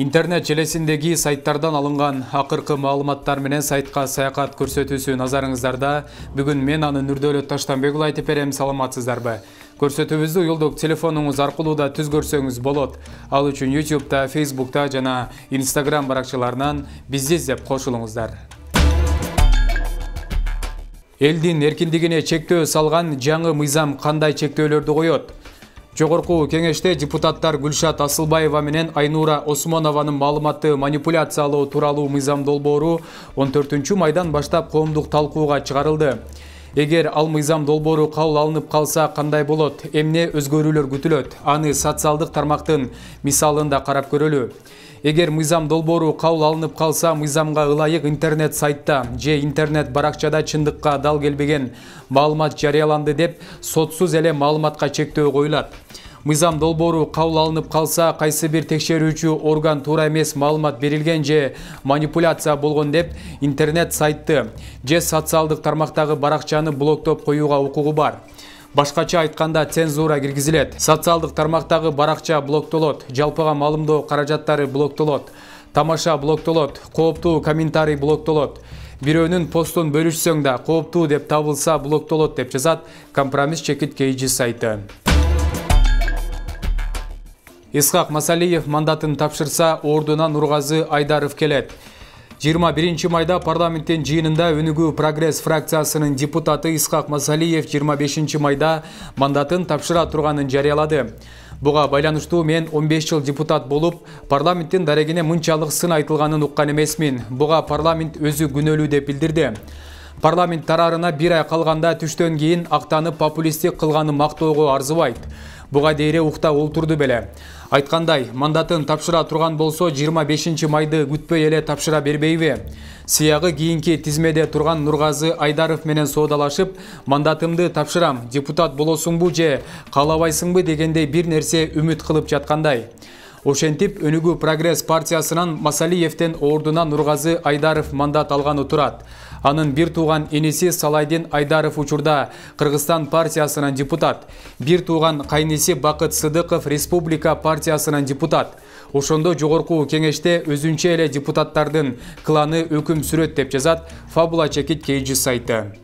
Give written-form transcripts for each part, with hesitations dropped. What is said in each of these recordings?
Интернет желесиндеги сайттардан алынган акыркы маалыматтар менен сайтка саякат көрсөтүүсү назарыңыздарда. Бүгүн мен анын Нурдөлөт Таштанбек уулу айтып берем, саламатсыздарбы? Көрсөтүүбүздү уюлдук телефонуңуз аркылуу да түзгөрсөңүз болот. Ал үчүн YouTube'да, Facebook'та жана Instagram баракчаларынан бизди издеп кошулуңуздар. Элдин эркиндигине чектөө салган жаңы мыйзам кандай чектөөлөрдү коет? Жогорку кеңеште депутаттар Гүлшат Асылбаева менен Айнура Осмонованын маалыматты манипуляциялоо тууралуу мыйзам долбоору 14 майдан баштап коомдук талкууга чыгарылды. Эгер ал мыйзам долбоору кабыл алынып калса кандай болот? Эмне өзгөрүүлөр күтүлөт? Аны социалдык тармактын мисалында карап көрөлү. Эгер мыйзам долбоору кабыл алынып калса, мыйзамга ылайык интернет сайтта же интернет баракчада чындыкка дал келбеген маалымат жарыяланды деп сотсуз эле маалыматка чектөө коюлат. Мыйзам долбоору кабыл алынып калса, кайсы бир текшерүүчү орган туура эмес маалымат берилген же манипуляция болгон деп интернет сайтты же социалдык тармактагы баракчаны блоктоп коюуга укугу бар. Башкача айтканда цензура киргизилет. Социалдык тармактагы баракча блоктолот, жалпыга маалымдоо каражаттары блоктолот, тамаша блоктолот, кооптуу комментарий блоктолот. Бирөөнүн постун бөлүшсөң да кооптуу деп табылса блоктолот деп жазат Компромисс чекит KG сайты. Исхак Масалиев мандатын тапшырса, ордуна Нургазы Айдаров келет. 21 майда парламенттин жыйынында Өнүгүү Прогресс фракциясынын депутаты Исхак Масалиев 25 майда мандатын тапшыра турганын жарыялады. Буга байланыштуу мен 15 жыл депутат болуп, парламенттин дарегине мынчалык сын айтылганын уккан эмесмин. Буга парламент өзү күнөөлүү деп билдирди. Парламент тараарына бир ай калганда түштөн кийин актанып популисттик кылганы мактоого арзыбайт. Буга дейре укта олтурду беле. Айткандай, мандатын тапшыра турган болсо 25 майды күтпөй эле тапшыра бербейби? Сыягы кийинки тизмеде турган Нургазы Айдаров менен соодалашып, мандатымды тапшырам, депутат болосуңбу же каалабайсыңбы дегендей бир нерсе үмүт кылып жаткандай. Ошентип, Өнүгүү Прогресс партиясынан Масалиевдин ордуна Нургазы Айдаров мандат алганы турат. Анын бир тууган эниси Салайдин Айдаров учурда Кыргызстан партиясынан депутат. Бир тууган кайниси Бакыт Сыдыков Республика партиясынан депутат. Ошондо жогорку кеңеште өзүнчө эле депутаттардын кланы өкүм сүрөт деп жазат Фабула Чекит KG сайты.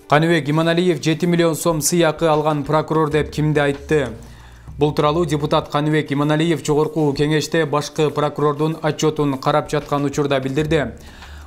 Каныбек Иманалиев 7 миллион сом сыйакы алган прокурор деп кимди айтты? Бул тууралуу депутат Каныбек Иманалиев жогорку кеңеште башкы прокурордун отчетун карап жаткан учурда билдирди.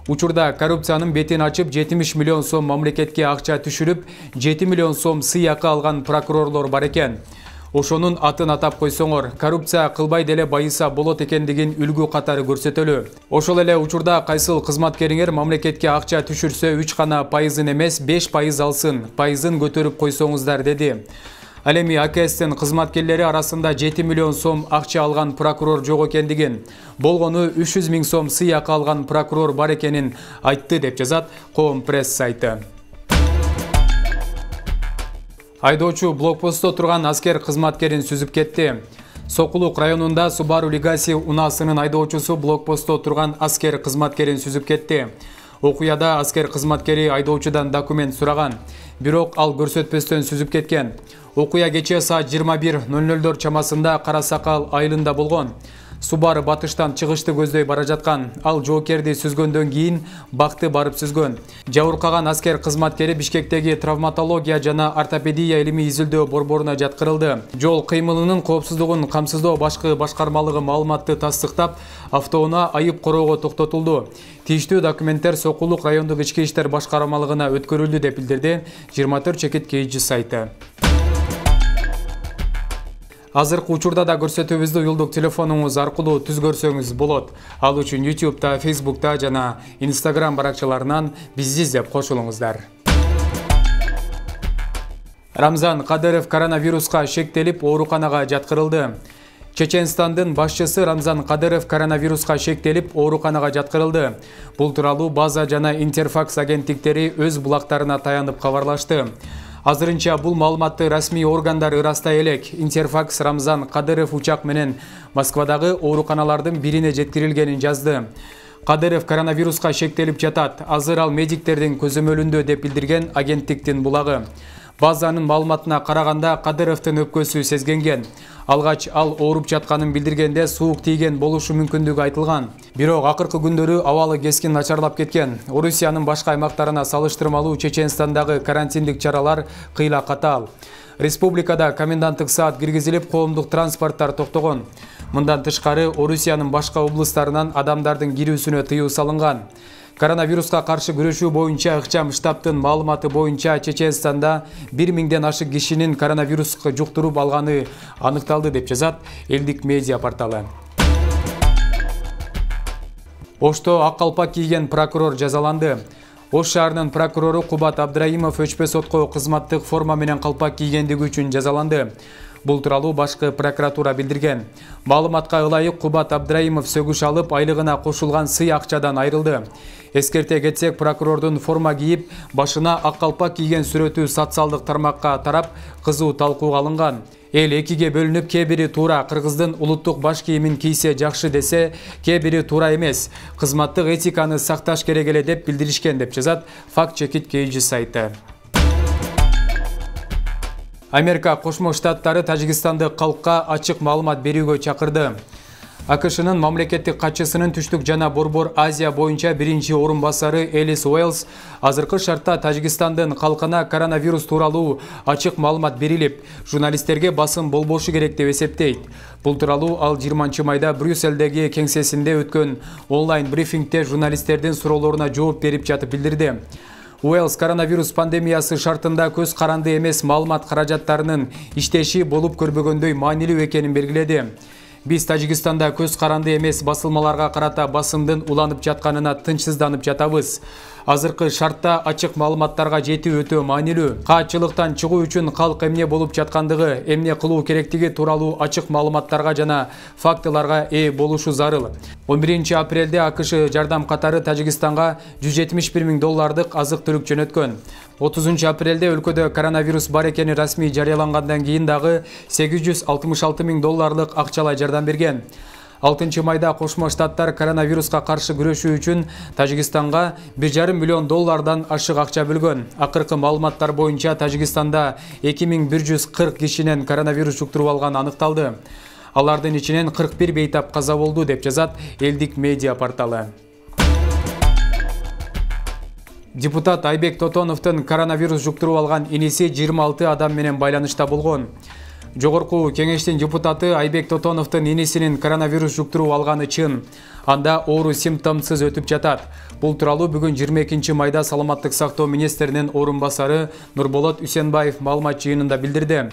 Учурда коррупциянын бетин ачып 70 миллион сом мамлекетке акча түшүрүп, 7 миллион сом сыйакы алган прокурорлор бар экен. Ошонун атын атап койсоңор, коррупция кылбай деле байыса болот экендигин үлгү катары көрсөтөлү. Ошол эле учурда кайсыл кызматкериңер мамлекетке акча түшүрсө 3 гана пайызын эмес 5% алсын, пайызын көтөрүп койсоңуздар деди. Ал эми АКСтин кызматкерлери арасында 7 миллион сом акча алган прокурор жок экендигин, болгону 300 000 сом сыйакы алган прокурор бар экенин айтты деп жазат Коом пресс сайты. Айдоочу блокпостто турган аскер кызматкерин сүзүп кетти. Сокулук районунда Subaru Legacy унаасынын айдоочусу блокпостто турган аскер кызматкерин сүзүп кетти. Окуяда аскер кызматкери айдоочудан документ сураган, бирок ал көрсөтпөстөн сүзүп кеткен. Окуя кечээ саат 21:00 чамасында Кара Сакал айылында болгон. Subaru батыштан чыгышты көздөй бара жаткан. Ал жоокерди сүзгөндөн кийин бакты барып сүзгөн. Жабыркаган аскер кызматкери Бишкектеги травматология жана ортопедия илимий изилдөө борборуна жаткырылды. Жол кыймылынын коопсуздугун камсыздоо башкы башкармалыгы маалыматты тастыктап, автоунаа айып короого токтотулду. Тийиштүү документтер Сокулук райондук ички иштер башкармалыгына өткөрүлдү деп билдирди 24 Чекит KG сайты. Азыркы учурда да көрсөтүүбүздү уюлдук телефонуңуз аркылуу түзгөрсөңүз болот. Ал үчүн YouTube'да, Facebook'та жана Instagram баракчаларынан бизди издеп кошулуңуздар. Рамзан Кадыров коронавируска шектелип, ооруканага жаткырылды. Чеченстандын башчысы Рамзан Кадыров коронавируска шектелип, ооруканага жаткырылды. Бул тууралуу База жана Интерфакс агенттиктери өз булактарына таянып кабарлашты. Азырынча бул маалыматты расмий органдар ырастай элек. Интерфакс Рамзан Кадыров учак менен Москвадагы ооруканалардын бирине жеткирилгенин жазды. Кадыров коронавируска шектелип жатат. Азыр ал медиктердин көзөмөлүндө деп билдирген агенттиктин булагы. Базанын маалыматына караганда Кадыровдун өпкөсү сезгенген. Алгач ал ооруп жатканын билдиргенде суук тийген болушу мүмкүндүгү айтылган. Бирок акыркы күндөрү абалы кескин начарлап кеткен. Орусиянын башка аймактарына салыштырмалуу Чеченстандагы карантиндик чаралар кыйла катаал. Республикада коменданттык саат киргизилип, коомдук транспорттор токтогон. Мындан тышкары Орусиянын башка облустарынан адамдардын кирүүсүнө тыюу салынган. Коронавируска каршы күрөшүү боюнча ыкчам штабтын маалыматы боюнча Чеченстанда 1000ден ашык кишинин коронавируску жуктуруп алганы аныкталды деп жазат элдик медиа порталы. Ошто ак калпак кийген прокурор жазаланды. Ош шаарынын прокурору Кубат Абдраимов өчпө сотко кызматтык форма менен калпак кийгендиги үчүн жазаланды. Бул тууралуу башкы прокуратура билдирген. Маалыматка ылайык Кубат Абдраимов сөгүш алып, айлыгына кошулган сый акчадан айрылды. Эскерте кетсек, прокурордун форма кийип, башына ак калпак кийген сүрөтү социалдык тармакка тарап, кызуу талкууга алынган. Эл экиге бөлүнүп, кээ бири туура кыргыздын улуттук баш кийимин кийсе жакшы десе, кээ бири туура эмес, кызматтык этиканы сакташ керек эле деп билдиришкен деп жазат Fact Check It KG сайты. Америка Кошмо Штаттары Тажикстандык калкка ачык маалымат берүүгө чакырды. АКШнын мамлекеттик катчысынын түштүк жана Борбор Азия боюнча биринчи орун басары Элис Уэллс азыркы шартта Тажикстандын калкына коронавирус тууралуу ачык маалымат берилип, журналисттерге басым болбошу керек деп эсептейт. Бул тууралуу ал 20 майда Брюсселдеги кеңсесинде өткөн онлайн брифингде журналисттердин суроолоруна жооп берип жатып билдирди. Уэллс коронавирус пандемиясы шартында көз каранды эмес маалымат каражаттарынын иштеши болуп көрбөгөндөй маанилүү экенин белгиледи. Биз Тажикстанда көз каранды эмес басылмаларга карата басымдын уланып жатканына тынчсызданып жатабыз. Азыркы шартта ачык маалыматтарга жетүү өтө маанилүү. Каатчылыктан чыгуу үчүн калк эмне болуп жаткандыгы, эмне кылуу керектиги тууралуу ачык маалыматтарга жана фактыларга ээ болушу зарыл. 11 апрелде АКШ жардам катары Тажикстанга $171 000 азык-түлүк жөнөткөн. 30 апрелде өлкөдө коронавирус бар экени расмий жарыялангандан кийин дагы $866 000 акчалай жардам берген. 6 майда Кошмо Штаттар коронавируска каршы күрөшүү үчүн Тажикстанга $1,5 миллион ашык акча бөлгөн. Акыркы маалыматтар боюнча Тажикстанда 2140 кишинен коронавирус жуктуруп алганы аныкталды. Алардын ичинен 41 бейтап каза болду деп жазат элдик медиа порталы. Депутат Айбек Тотоновдун коронавирус жуктуруп алган иниси 26 адам менен байланышта болгон. Жогорку кеңештин депутаты Айбек Тотоновдун инисинин коронавирус жуктуруп алганы чын. Анда оору симптомсуз өтүп жатат. Бул тууралуу бүгүн 22 майда Саламаттык сактоо министринин орун басары Нурболот Үсенбаев маалымат жыйынында билдирди.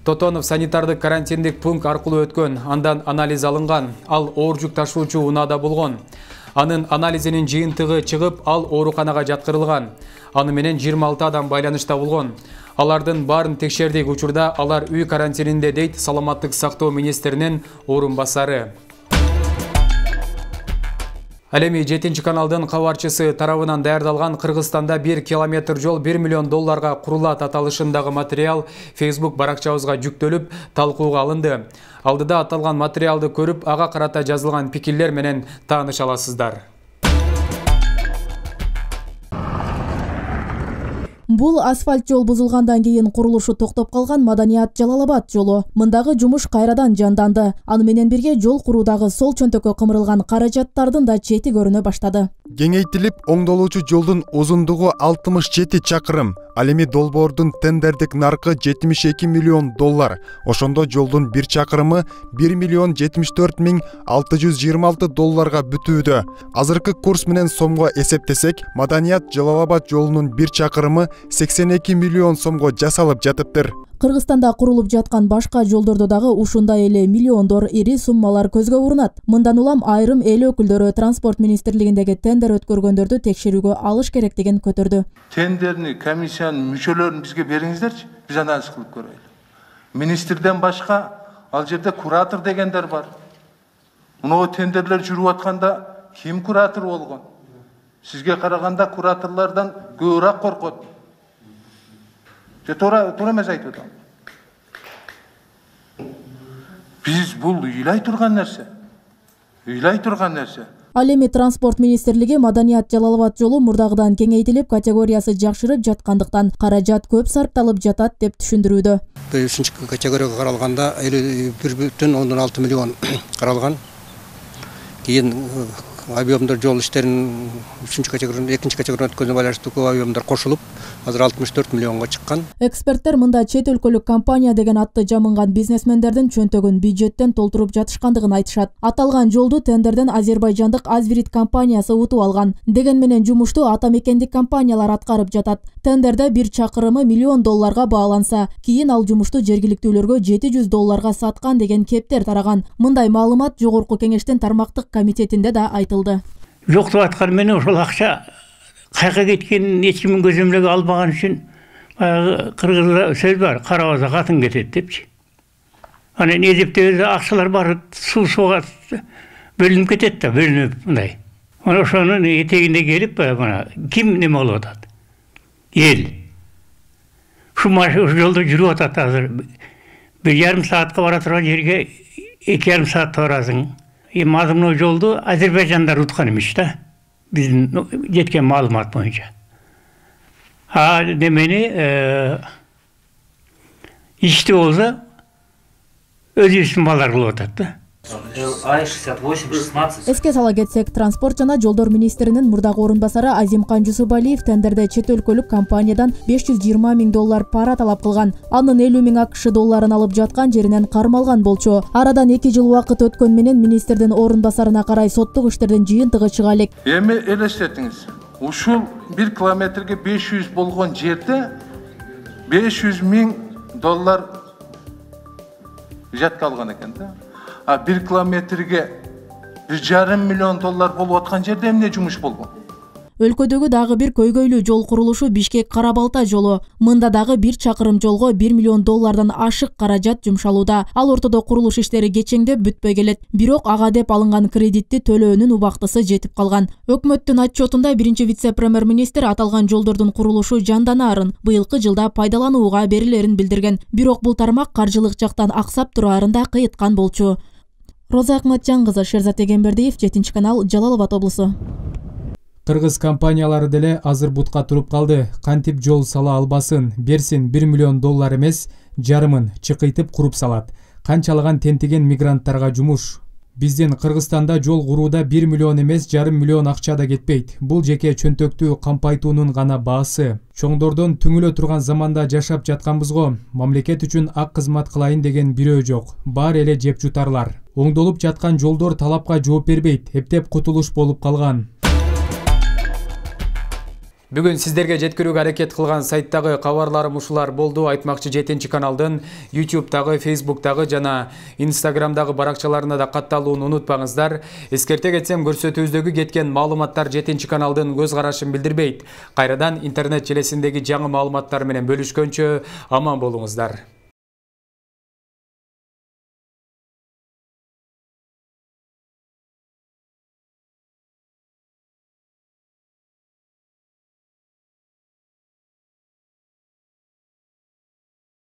Тотонов санитардык карантиндик пункт аркылуу өткөн, андан анализ алынган. Ал оор жүк ташуучу унаада болгон. Анын анализинин жыйынтыгы чыгып, ал ооруканага жаткырылган. Аны менен 26 адам байланышта болгон. Алардын баарын текшердик, учурда алар үй карантининде, дейт Саламаттык сактоо министринин орун басары. Ал эми 7 каналдын кабарчысы тарабынан даярдалган Кыргызстанда 1 километр жол $1 миллион курулат аталышындагы материал Facebook баракчабызга жүктөлүп, талкууга алынды. Алдыда аталган материалды көрүп, ага карата жазылган пикирлер менен тааныша аласыздар. Бул асфальт жол бузулгандан кийин курулушу токтоп калган Маданият Жалалабад жолу. Мындагы жумуш кайрадан жанданды. Аны менен бирге жол куруудагы сол чөнтөккө кымырылган каражаттардын да чети көрүнө баштады. Кеңейтилип оңдолуучу жолдун узундугу 67 чакырым. Ал эми долбоордун тендердик наркы $72 миллион. Ошондо жолдун 1 чакырымы $1,74,626 бүтүүдө. Азыркы курс менен сомго эсептесек, Маданият Жалалабад жолунун 1 чакырымы $82 миллион жасалып жатыптыр. Кыргызстанда курулуп жаткан башка жолдордо дагы ушундай эле миллиондор ири суммалар көзгө урунат. Мындан улам айрым эл өкүлдөрү транспорт министрлигиндеги тендер өткөргөндөрдү текшерүүгө алыш керектигин көтөрдү. Тендерни, комиссиянын мүчөлөрүн бизге бериңиздерчи, биз анализ кылып көрөлү. Министрден башка ал жерде куратор дегендер бар. Мына тендерлер жүрүп атканда ким куратор болгон? Сизге караганда кураторлордон көбүрөөк коркот. Туура эмес айтып атам. Биз бул ыйлай турган нерсе. Ал эми транспорт министрлиги Маданият Жалал Абад жолу мурдагыдан кеңейтилип, категориясы жакшырып жаткандыктан каражат көп сарпталып жатат деп түшүндүрүүдө. 3 категорияга каралганда 51,6 миллион каралган. Кийин объемдор жол иштерин 2 категорияга өткөнүнө байланыштуу көп объемдор кошулуп, азыр 64 миллионго чыккан. Эксперттер мында чет өлкөлүк компания деген атты жамынган бизнесмендердин чөнтөгүн бюджеттен толтуруп жатышкандыгын айтышат. Аталган жолду тендерден азербайжандык Азвирит компаниясы утуп алган. Деген менен жумушту ата мекендик компаниялар аткарып жатат. Тендерде бир чакырымы $1 миллион бааланса, кийин ал жумушту жергиликтүүлөргө $700 саткан деген кептер тараган. Мындай маалымат жогорку кеңештин тармактык комитетинде да айтылды. Жок деп аткан менен ошол акча кайга кеткенин эч кимдин көзөмөлгө албаган үчүн кыргызда сөз бар, карабаса катын кетет депчи. Анан эзептебеде акчалар баары сууга бөлүнүп кетет да, бөлүнүп мындай. Ana ошонун этегинде келип, мына ким неме кылып атат? Эл. Ушу жолдо жүрүп атат азыр. 1,5 саатка бара турган жерге 2,5 саатта барасың. Мазмуну жолду азербайжандар уткан эмес да. Биздин жеткен маалымат боюнча. Немени ишти болсо өзүбүздүн балдар кылып атат да. АИ-68-16. Эске сала кетсек, транспорт жана жолдор министринин мурдагы орун басары Азимкан Жусупалиев тендерде чет өлкөлүк компаниядан $520 000 пара талап кылган. Анын $50 000 алып жаткан жеринен кармалган болчу. Арадан 2 жыл убакыт өткөн менен министрдин орун басарына карай соттук иштердин жыйынтыгы чыга элек. Эми элестетиңиз. Ушул 1 километрге 500 болгон жерде $500 000 жатка алган экен да. 1 километрге $1,5 миллион болуп аткан жерде эмне жумуш болгон? Өлкөдөгү дагы бир көйгөйлүү жол курулушу Бишкек-Карабалта жолу. Мында дагы 1 чакырым жолго $1 миллион ашык каражат жумшалууда. Ал ортодо курулуш иштери кечеңдеп бүтпөй келет. Бирок ага деп алынган кредитти төлөөнүн убактысы жетип калган. Өкмөттүн отчетунда биринчи вице-премьер-министр аталган жолдордун курулушу жанданаарын, быйылкы жылда пайдаланууга берилерин билдирген. Бирок бул тармак каржылык жактан аксап тураарын да кыйыткан болчу. Роза Акматжан кызы, Шерзат Эгембердиев, 7-канал, Жалал Абад облусу. Кыргыз компаниялары деле азыр бутка туруп калды. Кантип жол сала албасын, берсин $1 миллион эмес, жарымын чыкыйтып куруп салат. Канчалаган тентиген мигранттарга жумуш. Биздин Кыргызстанда жол курууда $1 миллион эмес, $0,5 миллион акча да кетпейт. Бул жеке чөнтөктү кампайтуунун гана баасы. Чоңдордон түңүлө турган заманда жашап жатканбызго. Мамлекет үчүн ак кызмат кылайын деген бирөө жок. Баары эле жеп жутарлар. Оңдолуп жаткан жолдор талапка жооп бербейт. Эптеп кутулуш болуп калган. Бүгүн сиздерге жеткирүүгө аракет кылган сайттагы кабарларым ушулар болду. Айтмакчы 7-каналдын YouTube'дагы, Facebook'дагы жана Instagram'дагы баракчаларына да катталууну унутпаңыздар. Эскерте кетсем, көрсөтүүбүздөгү кеткен маалыматтар 7-каналдын көз карашын билдирбейт. Кайрадан интернет желесиндеги жаңы маалыматтар менен бөлүшкөнчө аман болуңуздар.